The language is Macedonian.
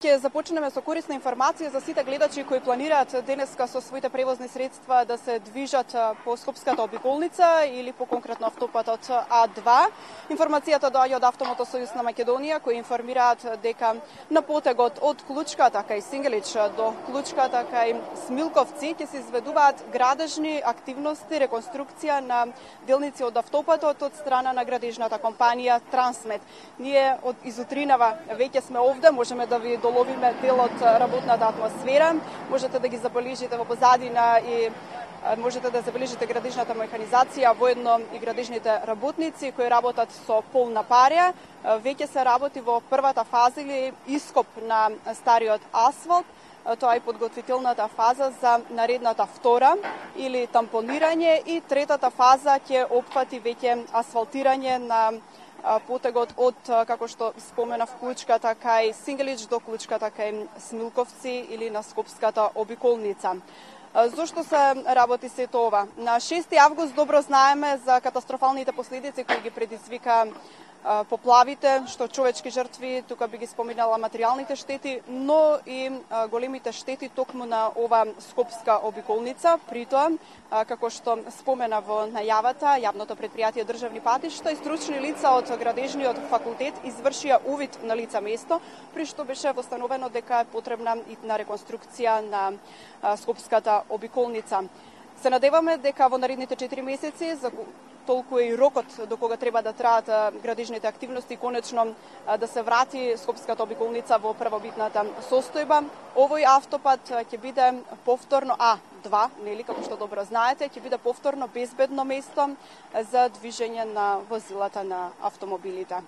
Ќе започнеме со корисна информација за сите гледачи кои планираат денеска со своите превозни средства да се движат по Скопската обиколница или по конкретно автопатот А2. Информацијата доаѓа од Автомотосојуз на Македонија, кои информираат дека на потегот од Клучката кај Сингелич до Клучката кај Смилковци ќе се изведуваат градежни активности, реконструкција на делници од автопатот од страна на градежната компанија Трансмет. Ние од изутринава веќе сме овде, можеме да ви доловиме дел од работната атмосфера, можете да ги забележите во позадина и можете да забележите градежната механизација, воедно и градежните работници кои работат со полна парја. Веќе се работи во првата фаза или ископ на стариот асфалт. Тоа е подготвителната фаза за наредната втора или тампонирање и третата фаза ќе опфати веќе асфалтирање на потегот од, како што споменав, Клучката кај Сингелич до Клучката кај Смилковци или на Скопската обиколница. Зошто се работи сето ова? На 6 август добро знаеме за катастрофалните последици кои ги предизвика поплавите, што човечки жртви, тука би ги споминала материјалните штети, но и големите штети токму на ова Скопска обиколница. При тоа, како што спомена во најавата, јавното претпријатие државни патишта и стручни лица од градежниот факултет извршија увид на лица место, при што беше восстановено дека е потребна и на реконструкција на Скопската обиколница. Се надеваме дека во наредните 4 месеци, за толку и рокот до кога треба да траат градежните активности, конечно да се врати Скопската обиколница во првобитната состојба. Овој автопат ќе биде повторно А2, нели, како што добро знаете, ќе биде повторно безбедно место за движење на возилата на автомобилите.